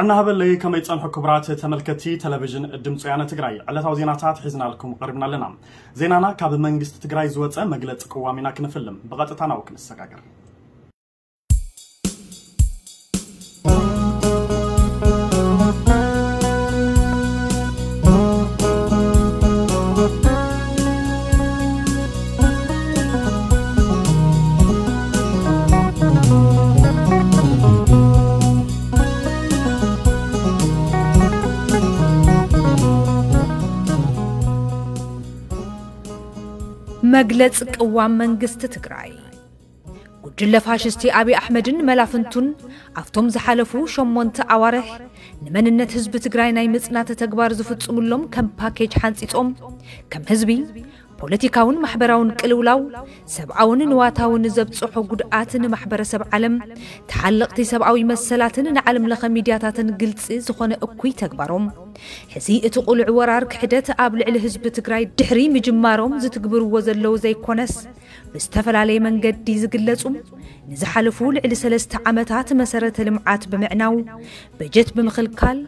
እናሃበለይ ከመይ ጸንሑ ክቡራት ተመልከቲ ቴሌቪዥን ድምፂ ወያነ ትግራይ፣ ዕለታዊ ዜናታት ሒዝናልኩም ቀሪብና ኣለና። ዜናና ካብ መንግስቲ ትግራይ ዝወፀ መግለፂ ቅዋም ኢና ክንፍልም። ብቐጥታ ናብኡ ክንሰጋገር። መግለፂ ቅዋም መንግስቲ ትግራይ። ጉጅለ ፋሽስቲ ኣብይ ኣሕመድን መላፍንቱን ኣብቶም ዝሓለፉ ሸሞንተ ኣዋርሕ ንመንነት ህዝቢ ትግራይ ናይ ምጽናት ተግባር ዝፍጽሙሎም ከም ፓኬጅ ሓንጺጾም፣ ከም ህዝቢ ፖለቲካውን ማሕበራውን ቅልውላው፣ ሰብኣውን ንዋታውን ዘብጽሖ ጉድኣት ንማሕበረሰብ ዓለም፣ ተሓለቕቲ ሰብኣዊ መሰላትን ንዓለም ለኸ ሚድያታትን ግልጺ ዝኾነ እኩይ ተግባሮም፣ ሕዚ እቲ ቁሉዕ ወራር ክሕደት ኣብ ልዕሊ ህዝቢ ትግራይ ድሕሪ ምጅማሮም ዝትግብርዎ ዘለዉ ዘይኮነስ፣ ብዝተፈላለየ መንገዲ ዝግለጹ፣ ንዝሓለፉ ልዕሊ ሰለስተ ዓመታት መሰረተ ልምዓት ብምዕናው፣ በጀት ብምኽልካል፣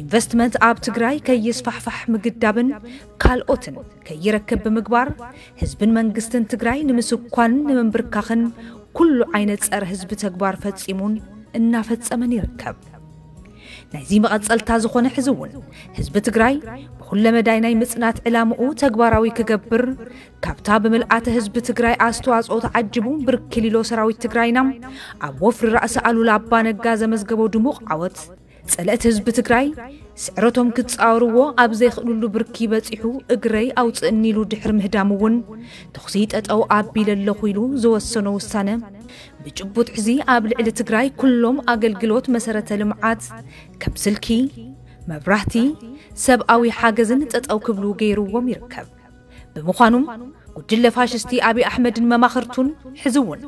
ኢንቨስትመንት ኣብ ትግራይ ከይስፋሕፋሕ ምግዳብን ካልኦትን ከይረክብ ብምግባር፣ ህዝብን መንግስትን ትግራይ ንምስኳንን ንምንብርካኽን ኩሉ ዓይነት ጸረ ህዝቢ ተግባር ፈጺሙን እናፈጸመን ይርከብ። ናይዚ መቐጸልታ ዝኾነ ሕዚ እውን ህዝቢ ትግራይ ብኹለ መዳይ ናይ ምጽናት ዕላምኡ ተግባራዊ ክገብር፣ ካብታ ብምልኣተ ህዝቢ ትግራይ ኣስተዋጽኦ ተዓጅቡ ብርክሊሎ ሰራዊት ትግራይና ኣብ ወፍሪ ራእሲ ኣሉላ ኣባ ነጋ ዘመዝገቦ ድሙቕ ዓወት፣ ጸለእቲ ህዝቢ ትግራይ ስዕረቶም ክጻወርዎ ኣብ ዘይኽእሉሉ ብርኪ በጺሑ፣ እግረይ ኣውጽእኒ ኢሉ ድሕሪ ምህዳም እውን፣ ተኹሲ ጠጠው ኣቢለ ኣለኹ ኢሉ ዝወሰኖ ውሳነ፣ ብጭቡጥ ሕዚ ኣብ ልዕሊ ትግራይ ኩሎም ኣገልግሎት መሰረተ ልምዓት ከም ስልኪ፣ መብራህቲ፣ ሰብኣዊ ሓገዝን ጠጠው ክብሉ ገይርዎም ይርከብ። ብምዃኑም ጉጅለ ፋሽስቲ ኣብይ ኣሕመድን መማኽርቱን ሕዚ እውን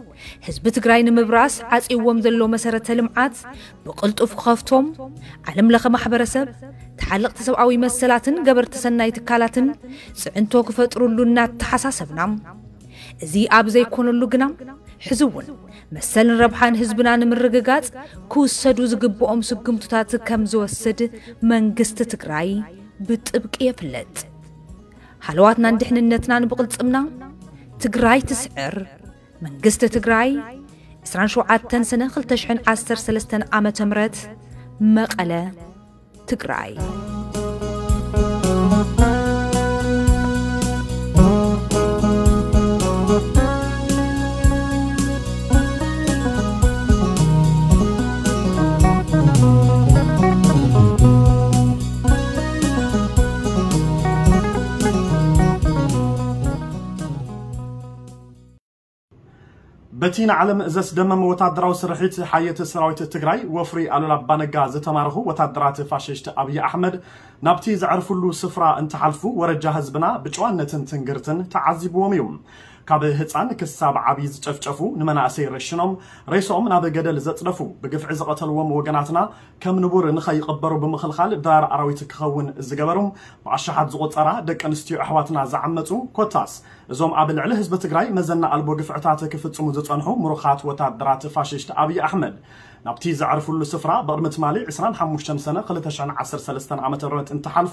ህዝቢ ትግራይ ንምብራስ ዓጽይዎም ዘሎ መሰረተ ልምዓት ብቕልጡፍ ክኸፍቶም፣ ዓለም ለኸ ማሕበረሰብ፣ ተሓለቕቲ ሰብኣዊ መሰላትን ገበርቲ ሰናይ ትካላትን ጽዕንቶ ክፈጥሩሉ እናተሓሳሰብና፣ እዚ ኣብ ዘይኮነሉ ግና፣ ሕዚ እውን መሰልን ረብሓን ህዝብና ንምርግጋጽ ክውሰዱ ዝግብኦም ስጉምትታት ከም ዝወስድ መንግስቲ ትግራይ ብጥብቂ የፍለጥ። ሃለዋትናን ድሕንነትናን ብቕልጽምና። ትግራይ ትስዕር። መንግስቲ ትግራይ፣ ዕስራን ሸውዓተን ሰነ ክልተ ሽሕን ዓሰርተ ሰለስተን ዓመተ ምህረት፣ መቐለ፣ ትግራይ። በቲ ንዓለም ዘስደመመ ወታደራዊ ስርሒት ሓየት ሰራዊት ትግራይ፣ ወፍሪ ኣሉላ ኣባነጋ ዝተማረኹ ወታደራት ፋሽስት ኣብይ ኣሕመድ ናብቲ ዘዕርፍሉ ስፍራ እንትሓልፉ፣ ወረጃ ህዝብና ብጨዋነትን ትንግርትን ተዓዚብዎም እዩ። ካብ ህፃን ክሳብ ዓብዪ ዝጨፍጨፉ፣ ንመናእሰይ ረሽኖም ሬስኦም ናብ ገደል ዘፅደፉ፣ ብግፍዒ ዝቐተልዎም ወገናትና ከም ንቡር ንኸይቕበሩ ብምኽልኻል ድራር ኣራዊት ክኸውን ዝገበሩ፣ ብኣሽሓት ዝቑፀራ ደቂ ኣንስትዮ ኣሕዋትና ዝዓመፁ፣ ኮታስ እዞም ኣብ ልዕሊ ህዝቢ ትግራይ መዘና ኣልቦ ግፍዕታት ክፍፅሙ ዝፀንሑ ምሩኻት ወታደራት ፋሽስት ኣብይ ኣሕመድ ናብቲ ዘዕርፍሉ ስፍራ ብቕድሚ ትማሊ ዕስራን ሓሙሽተን ሰነ ክልተ ሽሕን ዓሰርተ ሰለስተን ዓመተ ምህረት እንትሓልፉ፣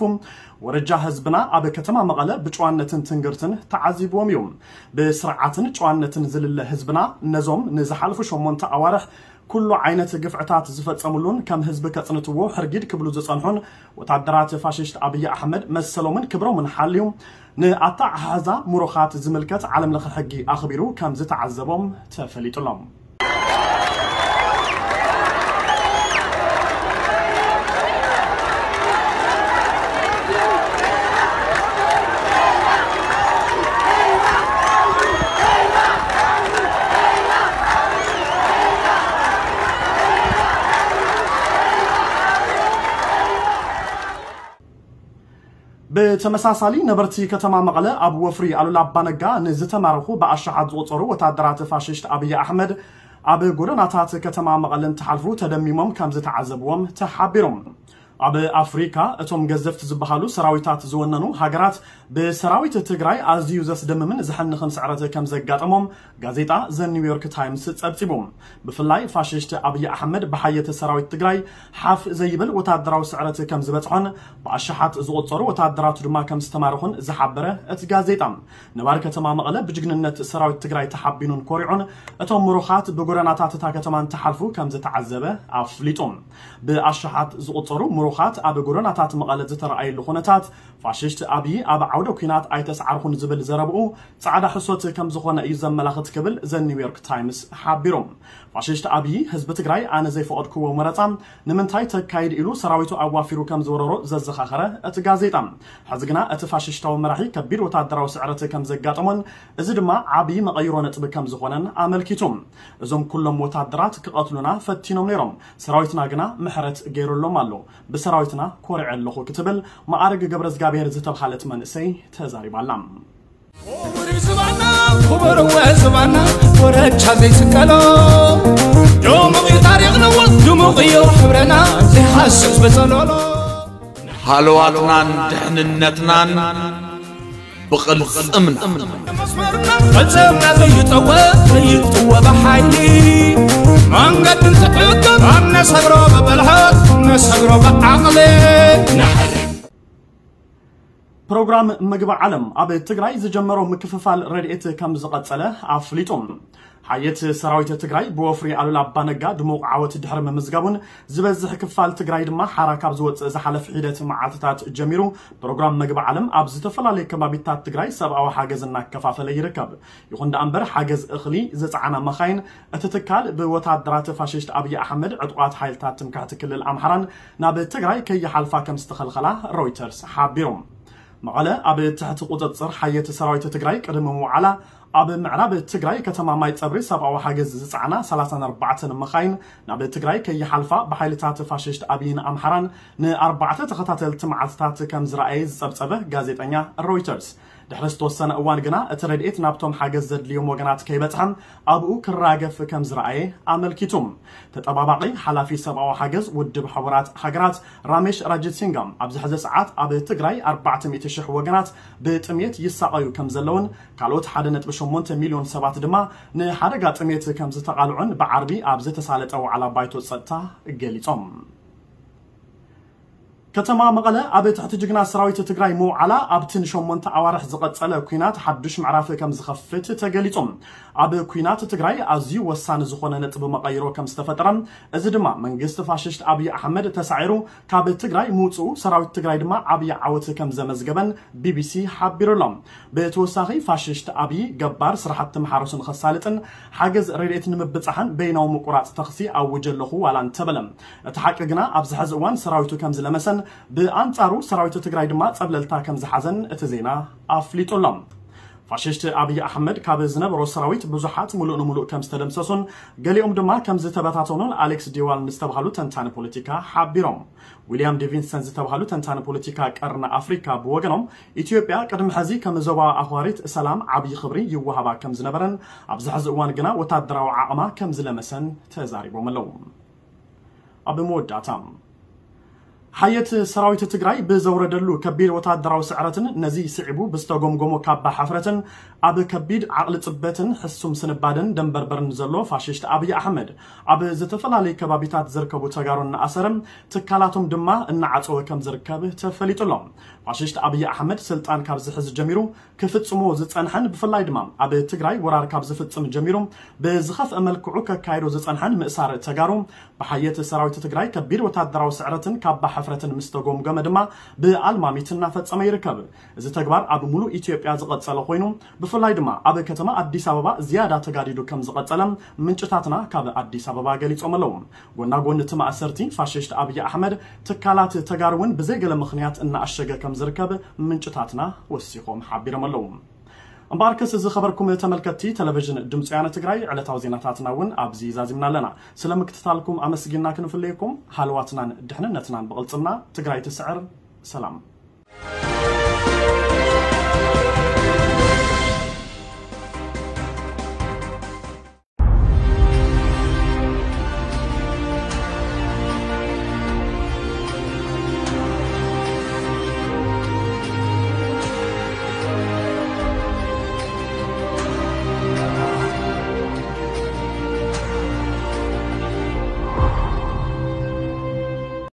ወረጃ ህዝብና ኣብ ከተማ መቐለ ብጨዋነትን ትንግርትን ተዓዚብዎም እዩ። ብስርዓትን ጨዋነትን ዝልለ ህዝብና ነዞም ንዝሓልፉ ሸሞንተ ኣዋርሕ ኩሉ ዓይነት ግፍዕታት ዝፈጸሙሉን ከም ህዝቢ ከጽንትዎ ሕርጊድ ክብሉ ዝጸንሑን ወታደራት ፋሽስት ኣብይ ኣሕመድ መሰሎምን ክብሮምን ሓልዩ ንኣተሓሕዛ ምሩኻት ዝምልከት ዓለም ለኸ ሕጊ ኣኽቢሩ ከም ዝተዓዘቦም ተፈሊጡሎም። ብተመሳሳሊ ነበርቲ ከተማ መቐለ ኣብ ወፍሪ ኣሉላ ኣባነጋ ንዝተማረኹ ብኣሽሓት ዝቑጸሩ ወታደራት ፋሽስት ኣብይ ኣሕመድ ኣብ ጎደናታት ከተማ መቐለ እንትሓልፉ ተደሚሞም ከም ዝተዓዘብዎም ተሓቢሮም። ኣብ ኣፍሪካ እቶም ገዘፍቲ ዝበሃሉ ሰራዊታት ዝወነኑ ሃገራት ብሰራዊት ትግራይ ኣዝዩ ዘስደምምን ዘሕንኽን ስዕረት ከም ዘጋጠሞም ጋዜጣ ዘ ኒውዮርክ ታይምስ ጸብጺቡ። ብፍላይ ፋሽስት ኣብይ ኣሕመድ ብሓየት ሰራዊት ትግራይ ሓፍ ዘይብል ወታደራዊ ስዕረት ከም ዝበጽሖን ብኣሽሓት ዝቑጸሩ ወታደራቱ ድማ ከም ዝተማረኹን ዝሓበረ እቲ ጋዜጣ፣ ነባሪ ከተማ መቐለ ብጅግንነት ሰራዊት ትግራይ ተሓቢኑን ኮሪዑን እቶም ምሩኻት ብጎደናታት እታ ከተማ እንትሓልፉ ከም ዝተዓዘበ ኣፍሊጡ። ብኣሽሓት ዝቑጸሩ ምሩኻት ኣብ ጎደናታት መቐለ ዝተረኣየሉ ኩነታት ፋሽስት ኣብይ ኣብ ዓውደ ኲናት ኣይተስዓርኹን ዝብል ዘረብኡ ጻዕዳ ሕሶት ከም ዝኾነ እዩ ዘመላኽት ክብል ዘ ኒውዮርክ ታይምስ ሓቢሩ። ፋሽስት ኣብይ ህዝቢ ትግራይ ኣነ ዘይፈቐድክዎ መረጻ ንምንታይ ተካይድ ኢሉ ሰራዊቱ ኣዋፊሩ ከም ዝወረሮ ዘዘኻኸረ እቲ ጋዜጣ፣ ሕዚ ግና እቲ ፋሽስታዊ መራሒ ከቢድ ወታደራዊ ስዕረት ከም ዘጋጠሞን እዚ ድማ ዓብዪ መቐይሮ ነጥቢ ከም ዝኾነን ኣመልኪቱ። እዞም ኩሎም ወታደራት ክቐትሉና ፈቲኖም ነይሮም፣ ሰራዊትና ግና ምሕረት ገይሩሎም ኣሎ። ብሰራዊትና ኮሪዐ ኣለኹ ክትብል መዓርግ ገብረ እግዚኣብሔር ዝተብሃለት መንእሰይ ተዛሪባላ። ክቡር ዝባና ክቡር ወ ዝባና ወረቻ ዘይስቀሎ ድሙቕ እዩ ታሪኽ ንወት ድሙቕ እዩ ሕብረና ዘይሃስስ በጸሎሎ ሃለዋትናን ድሕንነትናን ብቕልጽምና መስመርና ፈጸምና ዘይጠወ ዘይጥወ ብሓይሊ መንገድን ትዕቅብ ኣብ ነሰግሮ ብብልሓት ነሰግሮ ብዓቕሊ ንሓሊ ፕሮግራም ምግቢ ዓለም ኣብ ትግራይ ዝጀመሮ ምክፍፋል ረድኤት ከም ዝቐጸለ ኣፍሊጡ። ሓየት ሰራዊት ትግራይ ብወፍሪ ኣሉላ ኣባነጋ ድሙቕ ዓወት ድሕሪ ምምዝጋቡን ዝበዝሕ ክፋል ትግራይ ድማ ሓራ ካብ ዝወፅእ ዝሓለፍ ሒደት መዓልትታት ጀሚሩ ፕሮግራም ምግቢ ዓለም ኣብ ዝተፈላለዩ ከባቢታት ትግራይ ሰብኣዊ ሓገዝ እናከፋፈለ ይርከብ። ይኹን ደኣ እምበር ሓገዝ እኽሊ ዝፀዓና መኻይን እቲ ትካል ብወታደራት ፋሽስት ኣብይ ኣሕመድ ዕጡቓት ሓይልታት ትምክሕቲ ክልል ኣምሓራን ናብ ትግራይ ከይሓልፋ ከም ዝተኸልኸላ ሮይተርስ ሓቢሩ። መቐለ ኣብ ትሕቲ ቁፅፅር ሓየት ሰራዊት ትግራይ ቅድሚ ምውዓላ ኣብ ምዕራብ ትግራይ ከተማ ማይ ፀብሪ ሰብኣዊ ሓገዝ ዝፀዓና ሰላሳን ኣርባዕተን መኻይን ናብ ትግራይ ከይሓልፋ ብሓይልታት ፋሽስት ኣብይን ኣምሓራን ንኣርባዕተ ተኸታተልቲ መዓልትታት ከም ዝረኣየ ዝፀብፀበ ጋዜጠኛ ሮይተርስ ድሕሪ ዝተወሰነ እዋን ግና እቲ ረድኤት ናብቶም ሓገዝ ዘድልዮም ወገናት ከይበፅሐ ኣብኡ ክራገፍ ከም ዝረኣየ ኣመልኪቱ። ተጠባባቒ ሓላፊ ሰብኣዊ ሓገዝ ውድብ ሕቡራት ሃገራት ራሜሽ ራጅሲንጋ ኣብዚ ሕዚ ሰዓት ኣብ ትግራይ ኣርባዕተ ሚእቲ ሽሕ ወገናት ብጥሜት ይሳቐዩ ከም ዘለውን ካልኦት ሓደ ነጥቢ ሸሞንተ ሚልዮን ሰባት ድማ ንሓደጋ ጥሜት ከም ዝተቓልዑን ብዓርቢ ኣብ ዝተሳለጠ ዋዕላ ባይቶ ጸጥታ ገሊጾም። ከተማ መቐለ ኣብ ትሕቲ ጅግና ሰራዊት ትግራይ ምውዓላ ኣብቲ ንሸሞንተ ኣዋርሕ ዝቐጸለ ኲናት ሓዱሽ ምዕራፍ ከም ዝኸፍት ተገሊጹ። ኣብ ኲናት ትግራይ ኣዝዩ ወሳኒ ዝኾነ ነጥቢ መቐይሮ ከም ዝተፈጠረ፣ እዚ ድማ መንግስቲ ፋሽስት ኣብይ ኣሕመድ ተሳዒሩ ካብ ትግራይ ምውፅኡ ሰራዊት ትግራይ ድማ ዓብዪ ዓወት ከም ዘመዝገበን ቢቢሲ ሓቢሩ ኣሎ። ብተወሳኺ ፋሽስት ኣብይ ገባር ስራሕቲ መሓረሱ ንኸሳልጥን ሓገዝ ረድኤት ንምብፃሕን በይናዊ ምቁራፅ ተኽሲ ኣውጀ ኣለኹ ዋላ እንተበለ፣ እቲ ሓቂ ግና ኣብዚ ሕዚ እዋን ሰራዊቱ ከም ዝለመሰን ብኣንጻሩ ሰራዊት ትግራይ ድማ ጸብለልታ ከም ዝሓዘን እቲ ዜና ኣፍሊጡ ኣሎ። ፋሽስት ኣብይ ኣሕመድ ካብ ዝነበሮ ሰራዊት ብዙሓት ሙሉእ ንሙሉእ ከም ዝተደምሰሱን ገሊኦም ድማ ከም ዝተበታተኑን ኣሌክስ ዲዋል ንዝተባሃሉ ተንታኒ ፖለቲካ ሓቢሮም። ዊልያም ዴቪንሰን ዝተባሃሉ ተንታኒ ፖለቲካ ቀርኒ ኣፍሪካ ብወገኖም ኢትዮጵያ ቅድሚ ሕዚ ከም ዞባ ኣኽባሪት ሰላም ዓብዪ ክብሪ ይወሃባ ከም ዝነበረን ኣብዚ ሕዚ እዋን ግና ወታደራዊ ዓቕማ ከም ዝለመሰን ተዛሪቦም ኣለዉ። ኣብ መወዳእታ ሓየት ሰራዊት ትግራይ ብዘውረደሉ ከቢድ ወታደራዊ ስዕረትን ነዚ ስዒቡ ብዝተጎምጎሞ ካባ ሓፍረትን ኣብ ከቢድ ዓቕሊ ጽበትን ሕሱም ስንባደን ደንበርበርን ዘሎ ፋሽስት ኣብይ ኣሕመድ ኣብ ዝተፈላለዩ ከባቢታት ዝርከቡ ተጋሩ እናኣሰረ ትካላቶም ድማ እናዓጸወ ከም ዝርከብ ተፈሊጡ ኣሎ። ፋሽስት ኣብይ ኣሕመድ ስልጣን ካብ ዝሕዝ ጀሚሩ ክፍጽሞ ዝጸንሐን ብፍላይ ድማ ኣብ ትግራይ ወራር ካብ ዝፍጽም ጀሚሩ ብዝኸፍአ መልክዑ ከካይዶ ዝጸንሐን ምእሳር ተጋሩ ብሓየት ሰራዊት ትግራይ ከቢድ ወታደራዊ ስዕረትን ካባ ሕፍረትን ምስ ተጎምገመ ድማ ብኣልማሚት እናፈጸመ ይርከብ። እዚ ተግባር ኣብ ሙሉእ ኢትዮጵያ ዝቐጸለ ኮይኑ ብፍላይ ድማ ኣብ ከተማ ኣዲስ ኣበባ ዝያዳ ተጋዲዱ ከም ዝቐጸለ ምንጭታትና ካብ ኣዲስ ኣበባ ገሊጾም ኣለዉ። ጎና ጎኒ እቲ ማእሰርቲ ፋሽስት ኣብይ ኣሕመድ ትካላት ተጋሩ እውን ብዘይገለ ምኽንያት እናኣሸገ ከም ዝርከብ ምንጭታትና ወሲኾም ሓቢሮም ኣለዉ። እምበኣርከስ ዝኸበርኩም ተመልከትቲ ቴሌቪዥን ድምፂ ወያነ ትግራይ ዕለታዊ ዜናታትና እውን ኣብዚ ዛዚምና ኣለና። ስለ ምክትታልኩም ኣመስጊና ክንፍለየኩም ሃለዋትናን ድሕንነትናን ብቕልፅምና ትግራይ ትስዕር። ሰላም።